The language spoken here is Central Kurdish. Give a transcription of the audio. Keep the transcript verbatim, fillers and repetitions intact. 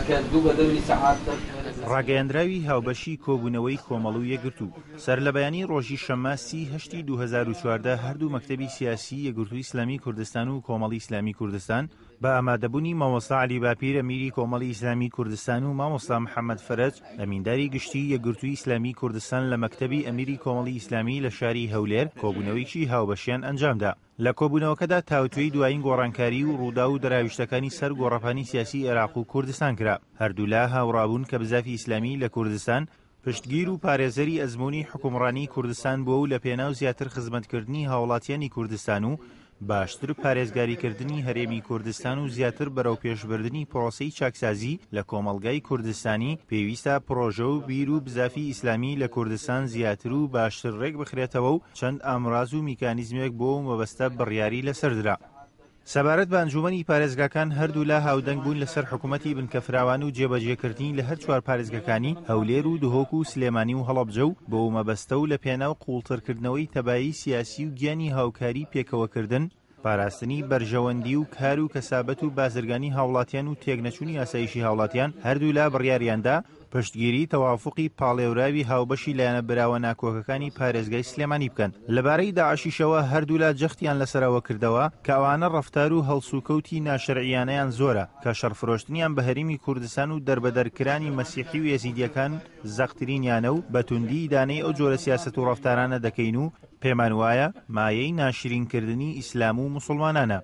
کە دوو بە دەوری سەعات. ڕاگەیەندراوی هاوبەشی کۆبوونەوەی کۆمەڵ و یەکگرتوو. سەرلەبەیانی ڕۆژی شەممە سی هەشتی دوو هەزار و چواردە هەردوو مەکتەبی سیاسی یەکگرتووی ئیسلامی کوردستان و کۆمەڵی ئیسلامی کوردستان بە ئامادەبوونی مامۆستا عەلی باپیر ئەمیری کۆمەڵی ئیسلامی کوردستان و مامۆستا محەممەد فەرەج ئەمینداری گشتی یەکگرتووی ئیسلامی کوردستان لە مەکتەبی ئەمیری کۆمەڵی ئیسلامی لە شاری هەولێر کۆبوونەوەیەکی هاوبەشیان ئەنجامدا. لە کۆبوونەوەکەدا تاوتوێی دوایین گۆڕانکاری و ڕووداو و دەراویشتەکانی سەر گۆڕەپانی سیاسی عێراق و کوردستان کرا. هەردوولا هاوڕابوون کە بزافی ئیسلامی لە کوردستان پشتگیر و پارێزەری ئەزموونی حوکمڕانی کوردستان بووە و لە پێناو زیاتر خزمەتکردنی هاوڵاتیانی کوردستان و باشتر پارێزگاریکردنی هەرێمی کوردستان و زیاتر بەرەوپێشبردنی پرۆسەی چاکسازی لە کۆمەڵگای کوردستانی پێویستە پرۆژە و بیر و بزافی ئیسلامی لە کوردستان زیاتر و باشتر ڕێک بخرێتەوە و چەند ئامراز و میکانیزمێک بۆ ئەو مەبەستە بڕیاری لەسەر درا. سەبارەت بە ئەنجومەنی پارێزگاکان هەردوولا هاودەنگ بوون لەسەر حکومەتی بنکە فراوان و جێبەجێکردنی لە هەر چوار پارێزگەکانی هەولێر و دهۆک و سلێمانی و هەڵەبجە و بەو مەبەستە و لە پێناو قووڵترکردنەوەی تەبایی سیاسی و گیانی هاوکاری پێکەوەکردن، پاراستنی بەرژەوەندی و کار و کەسابەت و بازرگانی هاوڵاتیان و تێکنەچوونی ئاسایشی هاوڵاتیان هەردوولا بڕیاریاندا پشتگیری تەوافوقی پاڵێوراوی هاوبەشی لایەنە براوە ناکۆکەکانی پارێزگای سلێمانی بکەن. لەبارەی داعشیشەوە هەردوولا جەختیان لەسەر ئەوە کردەوە کە ئەوانە ڕەفتار و هەڵسوکەوتی ناشەرعیانەیان زۆرە کە شەڕفرۆشتنیان بە هەرێمی کوردستان و دەربەدەرکرانی مەسیحی و ئێزیدیەکان زەقترینیانە و بە توندی ئیدانەی ئەو جۆرە سیاسەت و ڕەفتارانە دەکەین و پێمان وایە مایەی ناشرینکردنی ئیسلام و موسڵمانانە.